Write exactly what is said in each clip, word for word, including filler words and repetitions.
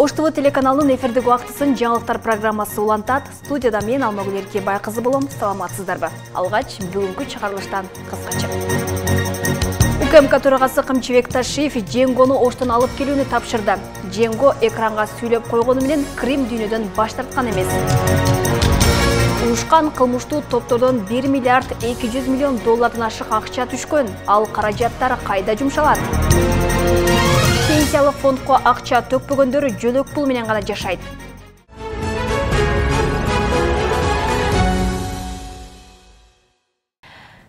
Ош ТВ телеканалынын эфирдик убактысын жаңылыктар программасы улантат. Студияда мен Алмагүл Эрке Байкызы болом. Саламатсыздарбы? Алгач бүгүнкү чыгарылыштан кыскача. УКМК төрагасы Камчыбек Ташиев Дженгону Оштон алып келүүнү тапшырды. Дженго экранга сүйлөп койгону менен Крим дүйнөдөн баш тарткан эмес. Уюшкан кылмыштуу топтордон бир миллиард эки жүз миллион доллардан ашык акча түшкөн. Ал каражаттар кайда жумшалат? Пенсиялык фондко акча төкпөгөндөр жөлөк пул менен гана жашайт.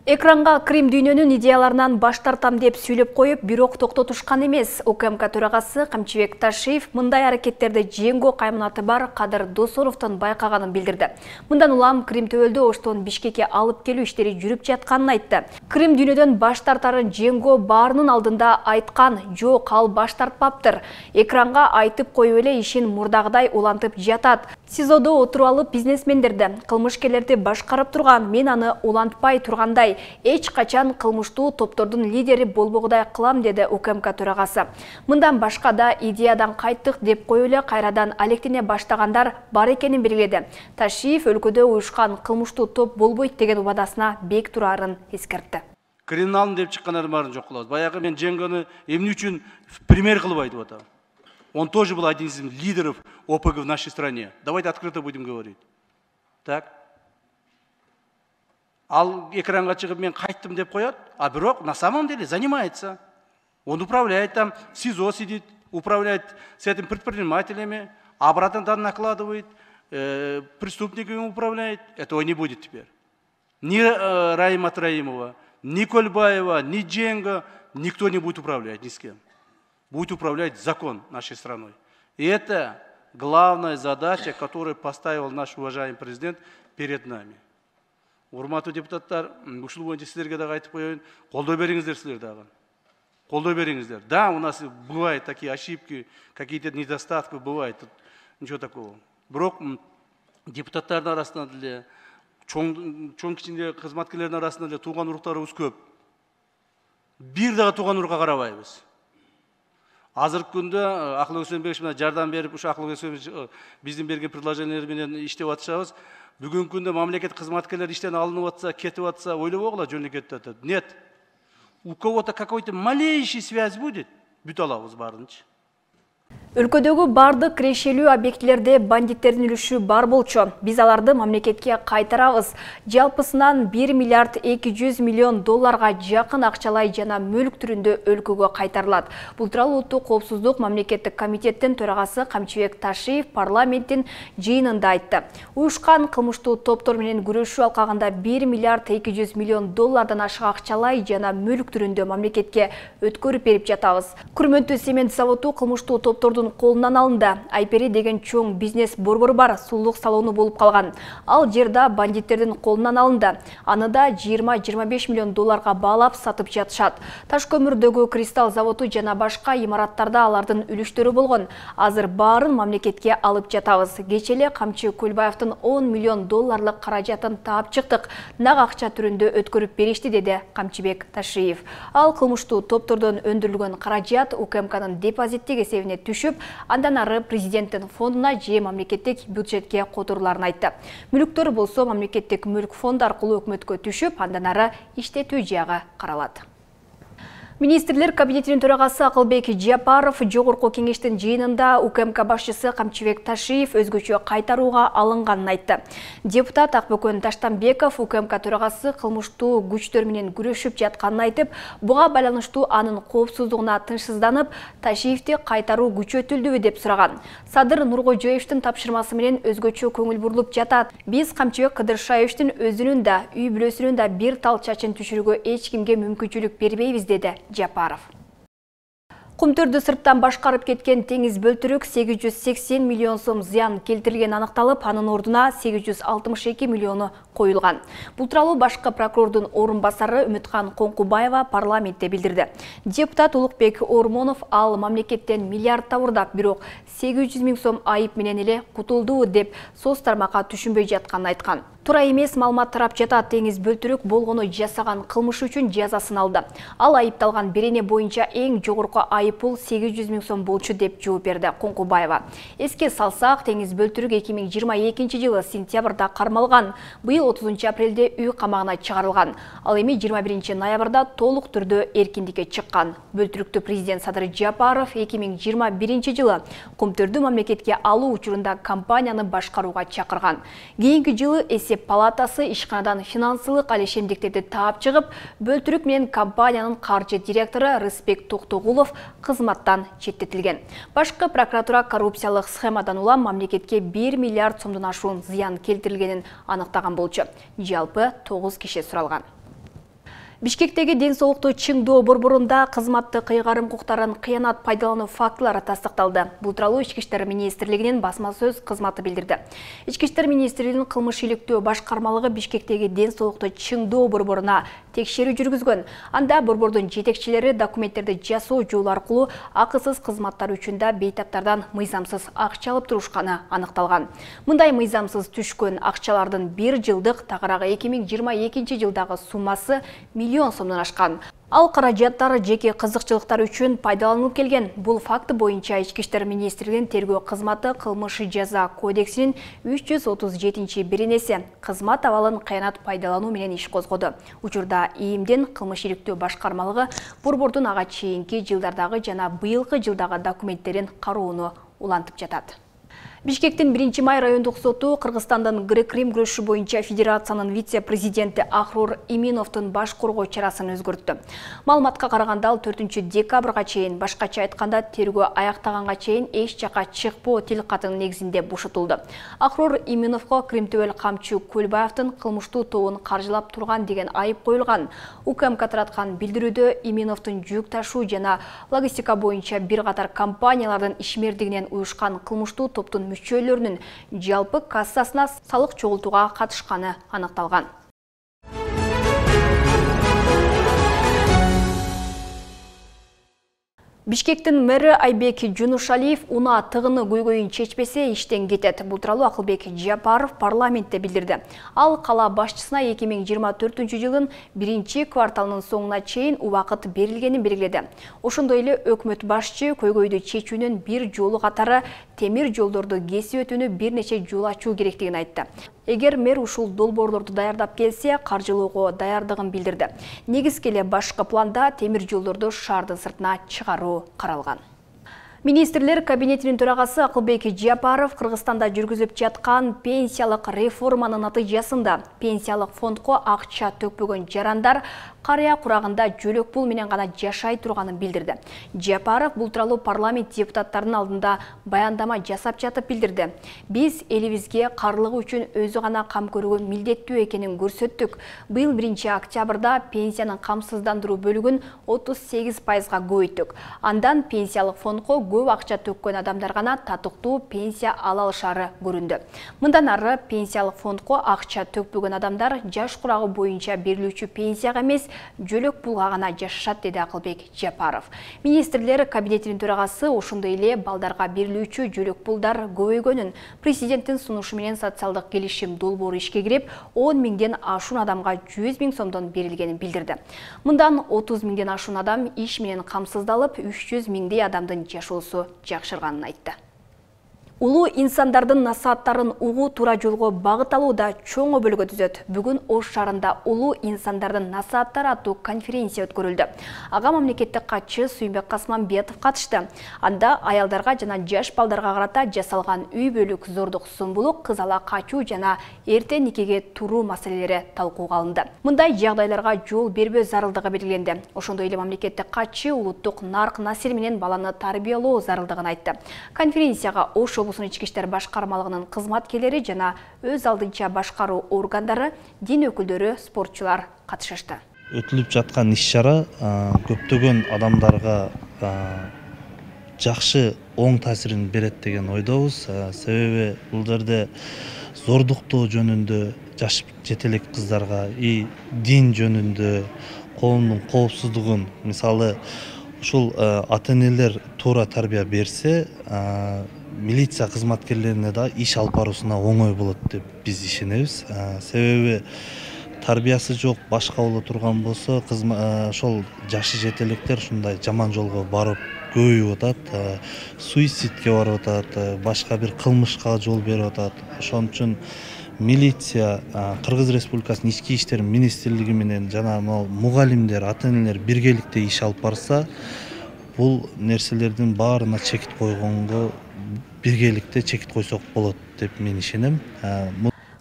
Экранга Крим дүйнөнүн идеяларынан баш тартам деп сүйлөп коюп, бирок токтотушкан эмес. УКМК төрагасы Камчыбек Ташиев мындай аракеттерди Дженго кайманаты бар Кадыр Досоновдон байкаганын билдирди. Мындан улам Крим төбөлдү Оштон Бишкекке алып келүү иштери жүрүп жатканын айтты. Крим дүйнөдөн баш тартарын Дженго баарынын алдында айткан, жок, ал баш тартпаптыр. Экранга айтып коюп эле ишин мурдагыдай улантып жатат. СИЗОдо отуруп алып бизнесмендерди, кылмышкерлерди башкарып турган, мен аны улантпай тургандай эч качан кылмыштуу топтордун лидери болбогудай кылам, деди УКМК төрагасы. Мындан башка да идеядан кайттык деп коюп эле кайрадан алектене баштагандар бар экенин белгиледи. Ташиев өлкөдө уюшкан кылмыштуу топ болбойт деген убадасына бек турарын эскертти. Криминалдын деп чыккандардын баарын жок кылабыз. Баягы мен Дженгону эмне үчүн пример кылып айтып атам. Он тоже был один из лидеров ОПГ в нашей стране. Давайте открыто будем говорить. Так? Ал экранга чыгып мен кайттым деп коет, а бирок на самом деле занимается. Он управляет там, в СИЗО сидит, управляет с этим предпринимателями, обратно там накладывает, э, преступниками управляет. Этого не будет теперь. Ни э, Раима Троимова, ни Кольбаева, ни Дженго, никто не будет управлять ни с кем. Будет управлять закон нашей страной. И это главная задача, которую поставил наш уважаемый президент перед нами. Урматтуу депутаттар, ушул боюнча силерге дагы айтып коеюн, колдой бериңиздер силер дагы. Колдой бериңиздер. Да, у нас бывают такие ошибки, какие-то недостатки бывают, тут ничего такого. Бирок депутаттардын арасында деле, чоң чоң кичине кызматкерлердин арасында деле тууган уруктарыбыз көп. Бир дагы тууган урукка карабайбыз. Азыркы күндө Акыл Өксөнбекович менен жардам берип, ушу Акыл Өксөнбекович биздин берген предложениялар менен иштеп атышабыз. Бүгүнкү күндө мамлекет кызматкерлери иштен алынып атса, кетип атса, ойлобогула жөнү кетип атат. Нет. У кого-то какой-то малейший связь будет, бүт алабыз баарынчы. Өлкөдөгү бардык кирешелүү объектилерде бандиттердин үлүшү бар болчу. Биз аларды мамлекетке кайтарабыз. Жалпысынан бир миллиард эки жүз миллион долларга жакын акчалай жана мүлк түрүндө өлкөгө кайтарылат. Бул тууралуу Улуттук коопсуздук мамлекеттик комитеттин төрагасы Камчыбек Ташиев парламенттин жыйынында айтты. Уюшкан кылмыштуу топтор менен күрөшүү алкагында бир миллиард эки жүз миллион доллардан ашык акчалай жана мүлк түрүндө мамлекетке өткөрүп берип жатабыз. Күрмөнтүү цемент заводу кылмыштуу топтордун колунан алынды. Айпери деген чоң бизнес борбору бар, сулук салону болуп калган. Ал жерда бандиттердин колунан алынды. Аны да жыйырма жыйырма беш миллион долларга баалап сатып жатышат. Таш көмүрдөгү кристалл заводу жана башка имараттарда алардын үлүштөрү болгон. Азыр баарын мамлекетке алып жатабыз. Кечеле Камчы Көлбаевдин он миллион долларлык каражатын таап чыктык. Нак акча түрүндө өткөрүп беришти, деди Камчыбек Ташиев. Ал кылмыштуу топтордон өндүрүлгөн каражат УКМКнын депозиттик эсебине түшүп, андан ары президенттин фондуна же мамлекеттик бюджетке которуларын айтты. Мүлктөр болсо мамлекеттик мүлк фонду аркылуу өкмөткө түшүп, андан ары иштетүү жагы каралат. Министрлер кабинетинин төрагасы Акылбек Жапаров жогорку кеңештин жыйынында УКМК башчысы Камчыбек Ташиев өзгөчө кайтарууга алынганын айтты. Депутат Акбөкөн Таштанбеков УКМК төрагасы кылмыштуу күчтөр менен күрөшүп жатканын айтып, буга байланыштуу анын коопсуздугуна тынчсызданып, Ташиевди кайтаруу күчөтүлдүбү деп сураган. Садыр Нуркожоевдин тапшырмасы менен өзгөчө көңүл бурулуп жатат. Биз Камчыбек Кыдыршаевдин өзүнүн да, үй бүлөсүнүн да бир тал чачын түшүрүүгө эч кимге мүмкүнчүлүк бербейбиз, деди Жапаров. Кумтөрдү сырттан башкарып кеткен теңиз бөлтүрүк сегиз жүз сексен миллион сом зыян келтирилгени аныкталып, анын ордуна сегиз жүз алтымыш эки миллиону коюлган. Бул тууралуу башкы прокурордун орун басары Үмүткан Коңкубаева парламентте билдирди. Депутат Улукбек Ормонов ал мамлекеттен миллиард табурдап, бирок сегиз жүз миң сом айып менен эле кутулду деп соц тармакка түшүнбөй жатканын айткан. Туура эмес маалымат тарап жатат. Теңиз Бөлтүрүк болгону жасаган кылмышы үчүн жазасын алды. Ал айыпталган берене боюнча эң жогорку айыппул сегиз жүз миң сом болчу деп жооп берди Коңкубаева. Эске салсак, Теңиз Бөлтүрүк эки миң жыйырма экинчи жылы сентябрда кармалган, быйыл отузунчу апрелде үй камагына чыгарылган. Ал эми жыйырма биринчи ноябрда толук түрдө эркиндикке чыккан. Бөлтүрүктү президент Садыр Жапаров эки миң жыйырма биринчи жылы Көмтөрдү мамлекетке алуу учурунда компанияны башкарууга чакырган. Кийинки жылы эсеп палатасы ишканадан финансылык алишемдиктерди таап чыгып, Бөлтүрүк менен компаниянын каржы директору Рыспек Токтогулов кызматтан четтетилген. Башкы прокуратура коррупциялык схемадан улам мамлекетке бир миллиард сомдон ашуун зыян келтирилгенин аныктаган болчу. Жалпы тогуз киши суралган. Бишкектеги ден соолукту чыңдоо борборунда кызматты кыйгарым укуктарын кыянат пайдалануу фактылары тастыкталды. Бул тууралуу Ички иштер министрлигинин басма сөз кызматы билдирди. Ички иштер министрлигинин кылмыш иликтөө башкармалыгы Бишкектеги ден соолукту чыңдоо борборуна текшерүү жүргүзгөн. Анда борбордун жетекчилери документтерди жасоо жолу аркылуу акысыз кызматтар үчүн да бейтаптардан мыйзамсыз акча алып турушканы аныкталган. Мындай мыйзамсыз түшкөн акчалардын бир жылдык, тагыраагы эки миң жыйырма экинчи жылдагы суммасы миллион сомдон ашкан. Ал каражаттар жеке кызыкчылыктар үчүн пайдаланылып келген. Бул факты боюнча Ички иштер министрлигинин тергөө кызматы кылмыш жаза кодексинин үч жүз отуз жетинчи беренеси кызмат абалын кыянат пайдалануу менен иш козгоду. Учурда ИИМдин кылмыш иликтөө башкармалыгы борбордун ага чейинки жылдардагы жана быйылкы жылдагы документтерин кароону улантып жатат. Бишкектин биринчи май райондук соту Кыргызстандын грек-рим күрөшү боюнча федерациянын вице-президенти Ахрур Иминовдун баш коргоо чарасын өзгөрттү. Маалыматка караганда ал төртүнчү декабрга чейин, башкача айтканда тергөө аяктаганга чейин эч жака чыкпоо тил катын негизинде бошотулду. Ахрур Иминовго Крим төбөл камчы Көлбаевдин кылмыштуу тобун каржылап турган деген айып коюлган. УКМК тараткан билдирүүдө Иминовдун жүк ташуу жана логистика боюнча бир катар компаниялардын ишмердигинен уюшкан кылмыштуу топтун мүчөлөрүнүн жалпы кассасына салык чогултууга катышканы аныкталган. Бишкектин мэри Айбек Жунушалиев унаа тыгыны көйгөйүн чечпесе иштен кетет. Бул тууралуу Акылбек Жапаров парламентте билдирди. Ал кала башчысына эки миң жыйырма төртүнчү жылдын биринчи кварталынын соңуна чейин убакыт берилгенин белгиледи. Ошондой эле өкмөт башчы көйгөйдү чечүүнүн бир жолу катары темир жолдорду кесип өтүүнү бир нече жол ачуу керектигин айтты. Эгер мэр ушул долбоорлорду даярдап келсе, каржылоого даярдыгын билдирди. Негизги эле башкы планда темир жолдорду шаардын сыртына чыгаруу каралган. Министрлер кабинетинин төрагасы Акылбек Жапаров Кыргызстанда жүргүзүп жаткан пенсиялык реформанын натыйжасында пенсиялык фондко акча төкпөгөн жарандар карыя курагында жөлөк пул менен гана жашай турганын билдирди. Жапаров бул тууралуу парламент депутаттарынын алдында баяндама жасап жатып билдирди. Биз элибизге карлыгы үчүн өзү гана кам көрүүгө милдеттүү экенин көрсөттүк. Быйыл биринчи октябрда пенсиянын камсыздандыруу бөлүгүн отуз сегиз пайызга көбөйттүк. Андан пенсиялык фондко көп акча төккөн адамдар гана татыктуу пенсия ала алышары көрүндү. Мындан ары пенсиялык фондко акча төкпөгөн адамдар жаш курагы боюнча берилүүчү пенсияга эмес, жөлөк пулга гана жашашат, деди Акылбек Жапаров. Министрлер кабинетинин төрагасы ошондой эле балдарга берилүүчү жөлөк пулдар көбөйгөнүн, президенттин сунушу менен социалдык келишим долбоору ишке кирип, он миңден ашуун адамга жүз миң сомдон берилгенин билдирди. Мындан отуз миңден ашуун адам иш менен камсыздалып, үч жүз миңдей адамдын жашоосу жакшырганын айтты. Улуу инсандардын насааттарын угуу туура жолго багыт алууда чоң өбөлгө түзөт. Бүгүн Ош шаарында улуу инсандардын насааттары аттуу конференция өткөрүлдү. Ага мамлекеттик катчы Сүйүнбек Касманбетов катышты. Анда аялдарга жана жаш балдарга карата жасалган үй бүлөлүк зордук зомбулук, кыз ала качуу жана эрте никеге туруу маселелери талкууга алынды. Мындай жагдайларга жол бербөө зарылдыгы белгиленди. Ошондой эле мамлекеттик катчы улуттук нарк насил менен баланы тарбиялоо зарылдыгын айтты. Конференцияга Ош облусунун ички иштер башкармалыгынын кызматкерлери жана өз алдынча башкаруу органдары, дин өкүлдөрү, спортчулар катышышты. Өтүлүп жаткан иш-чара көптөгөн адамдарга жакшы оң таасирин берет деген ойдобуз. Себеби бул жерде зордуктоо жөнүндө, жаш жетелек кыздарга и дин жөнүндө коомдун коопсуздугун, мисалы ушул ата энелер туура тарбия берсе, милиция кызматкерлерине да иш алып баруусуна оңой болот деп биз ишенебиз. Себеби тарбиясы жок, башка боло турган болсо, ошол жашы жетелектер ушундай жаман жолго барып көбөйүп атат, суицидке барып атат, башка бир кылмышка жол берип атат. Ошон үчүн милиция, Кыргыз Республикасынын ички иштер министрлиги менен жана мугалимдер, ата энелер биргеликте иш алып барса, бул нерселердин баарына чекит койгонго биргеликте чекит койсок болот деп мен ишенем.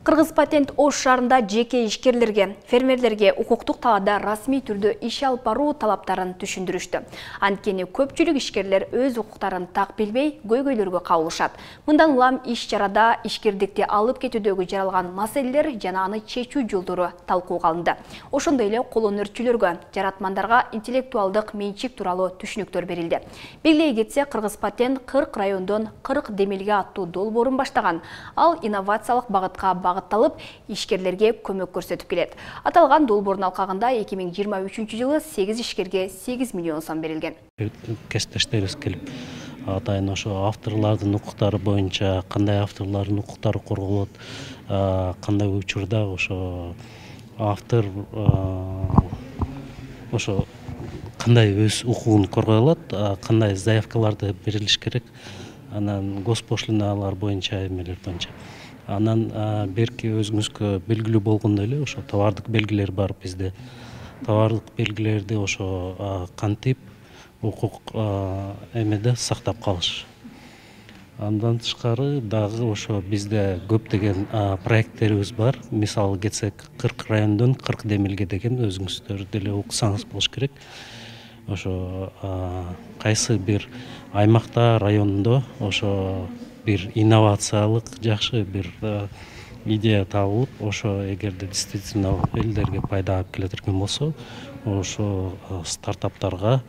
Кыргыз Патент Ош шаарында жеке ишкерлерге, фермерлерге укуктук талаада расмий түрдө иш алып баруу талаптарын түшүндүрүштү. Анткени көпчүлүк ишкерлер өз укуктарын так билбей, көйгөйлөргө кабылышат. Мындан улам иш чарада ишкердикти алып кетүүдөгү жаралган маселелер жана аны чечүү жолдору талкууга алынды. Ошондой эле кол өнөрчүлөргө, жаратмандарга интеллектуалдык менчик тууралуу түшүнүктөр берилди. Белгилей кетсе, Кыргыз Патент кырк райондон кырк демилге аттуу долбоорун баштаган. Ал инновациялык багытка багытталып, ишкерлерге көмөк көрсөтүп келет. Аталган долбоордун алкагында эки миң жыйырма үчүнчү жылы сегиз ишкерге сегиз миллион сом берилген. Кесиптештерибиз келип, атайын ошо авторлордун укуктары боюнча кандай авторлордун укуктары корголот, кандай учурда ошо автор ошо кандай өз укугун коргой алат, кандай заявкаларды берилиш керек, анан госпошлиналар боюнча, эмелер боюнча. Анан берки өзүңүзгө белгилүү болгондой эле ошо товардык белгилер бар бизде. Товардык белгилерди ошо кантип укук эмеде сактап калыш. Андан тышкары дагы ошо бизде көптөгөн проекттерибиз бар. Мисалы кетсек, кырк райондон кырк демилге деген өзүңүздөр деле уксаңыз болуш керек. Ошо кайсы бир аймакта, райондо ошо бир инновациялык жакшы бир идея табылып, ошо эгерде действительно элдерге пайда алып келе турган болсо, ошо стартаптарга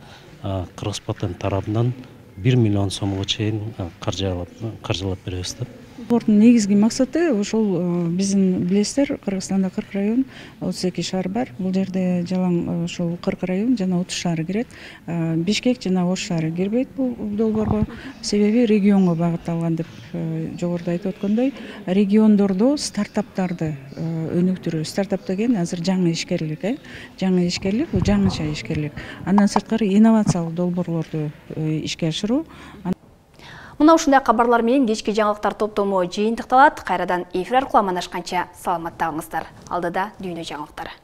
Кыргыз Патент тарабынан бир миллион сомго чейин каржылап беребиз да. Долбоордун негизги максаты ошол биздин билесиздер, Кыргызстанда кырк район, отуз эки шаар бар. Бул жерде жалаң ошол кырк район жана отуз шаар кирет. Бишкек жана Ош шаары кирбейт бул долбоорго. Себеби регионго багытталган деп жогоруда айтып өткөндөй, региондордо стартаптарды өнүктүрүү. Стартап деген азыр жаңы ишкерлик, э? Жаңы ишкерлик, бул жаңыча ишкерлик. Андан сырткары инновациялык долбоорлорду ишке ашыруу. Мына ушундай кабарлар менен кечки жаңылыктар топтому жыйынтыкталат. Кайрадан эфир аркылуу амандашканча саламатта калыңыздар. Алдыда дүйнө жаңылыктары.